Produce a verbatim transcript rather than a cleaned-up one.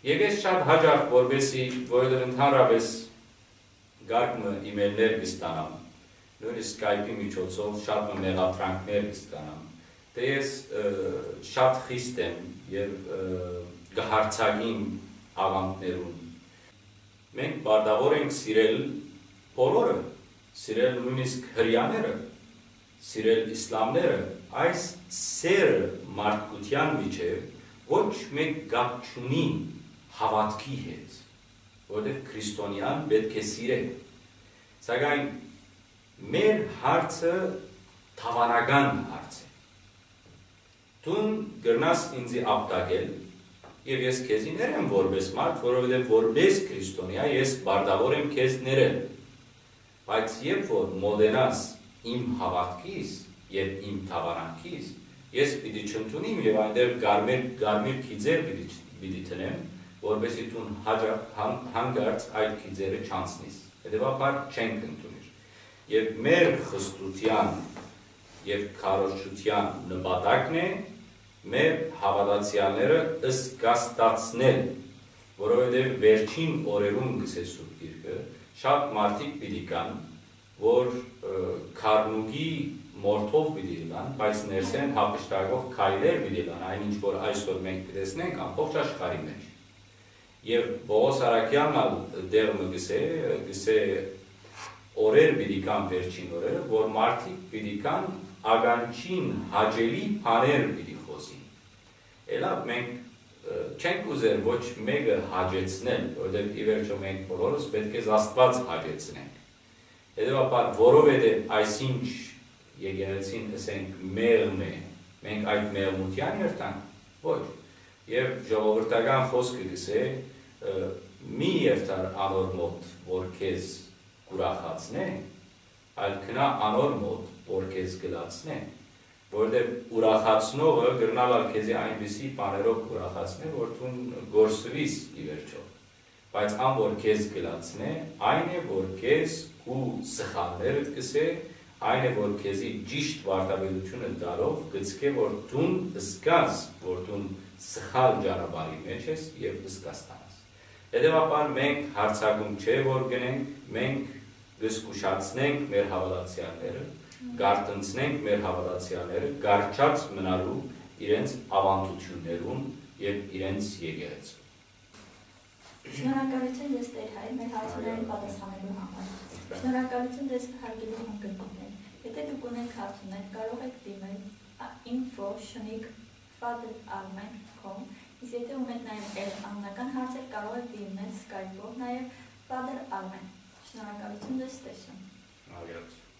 Եկես շատ հաճախ, որպեսի, որովհետև ընդհանրապես կարգ մը email-ներ կստանամ, նույնիսկ Skype-ի միջոցով շատ մը մեղադրանքներ կստանամ, թէ ես, ը, շատ խիստ եմ եւ, ը, կհարձակիմ աղանդներուն։ Մենք պարտավոր ենք սիրել բոլորը, սիրել նույնիսկ հրեաները, սիրել իսլամները, այս սերը մարդկության միջև ոչ մեկ կապ չունի հաւատքի հետ, որովհետև քրիստոնեան պէտք է սիրէ։ Սակայն մեր հարցը դաւանական հարց է։ Դուն կրնաս ինծի ապտակել, եւ ես քեզի ներեմ որպէս մարդ, որովհետեւ որպէս քրիստոնեայ ես պարտավոր եմ քեզ ներել։ Բայց երբ որ մոտենաս իմ հաւատքիս եւ իմ դաւարանքիս, ես պիտի չընդունիմ եւ այնտեղ կարմիր, կարմիր գիծեր պիտի, պիտի դնեմ, որպեսզի դուն հաճախ հան-, հանկարծ այդ գիծերը չանցնիս։ Հետեւաբար չենք ընդունիր։ Եւ մեր խստության եւ քարոզչության նպատակն է մեր հաւատացեալները զգաստացնել, որովհետեւ վերջին օրերուն, կ'ըսէ Սուրբ Գիրքը, շատ մարդիկ պիտի կան, որ, ը, քարնուկի մորթով պիտի ըլլան, բայց ներսէն յափշտակող քայլեր պիտի ըլլան, այն ինչ որ այսօր մենք կը տեսնենք ամբողջ աշխարհի մեջ։ Եւ Պողոս Արաքեանն ալ տեղ մը կ'ըսէ, կ'ըսէ, օրեր պիտի կան, վերջին օրերը, որ մարդիկ պիտի կան, ականջին հաճելի բաներ պիտի խոզին։ Ելա, մենք, ը, չենք ուզեր ոչ մեկը հաճեցնել, որովհետեւ ի վերջոյ մենք բոլորս պէտք է Աստուած հաճեցնենք։ Հետեւաբար, որովհետեւ այսինչ եկեղեցին, ըսենք, մեղմ է, մենք այդ մեղմութեան երթանք։ Ոչ։ Եւ ժողովրդական խօսքը կ'ըսէ, ը, «Մի երթար անոր մօտ, որ քեզ կ'ուրախացնէ, այլ գնա անոր մօտ, որ քեզ կ'լացնէ», որովհետեւ ուրախացնողը կրնալ ալ քեզի այնպիսի բաներով ուրախացնէ, որ դուն կորսուիս ի վերջոյ։ Բայց ան որ քեզ կ'լացնէ, այն է որ քեզ քու սխալներդ կ'ըսէ, այն է որ քեզի ճիշդ վարդապետութիւնը տալով կ'ցկէ որ դուն զգաս որ դուն սխալ ճանապարհի մեջ ես եւ զգաստանաս։ Հետեւաբար մենք յարձակում չէ որ գնենք, մենք կ'զգուշացնենք մեր հաւատացեալները, կ'արթնցնենք մեր հաւատացեալները կառչած մնալու իրենց աւանդութիւններուն եւ իրենց եկեղեցու։ Շնորհակալություն ձեզ, Տէր Հայր, մեր հարցումներին պատասխանելու համար։ Շնորհակալություն ձեզ հարգելի հանդգնողներ։ Եթե դուք ունեք հարցումներ, կարող եք դիմել info շնիկ father armen com, իսկ եթե ունեք նաև այլ անձնական հարցեր, կարող եք դիմել Skype-ով նաև Father Armen։ Շնորհակալություն ձեզ, տեսնենք։ Շնորհակալություն։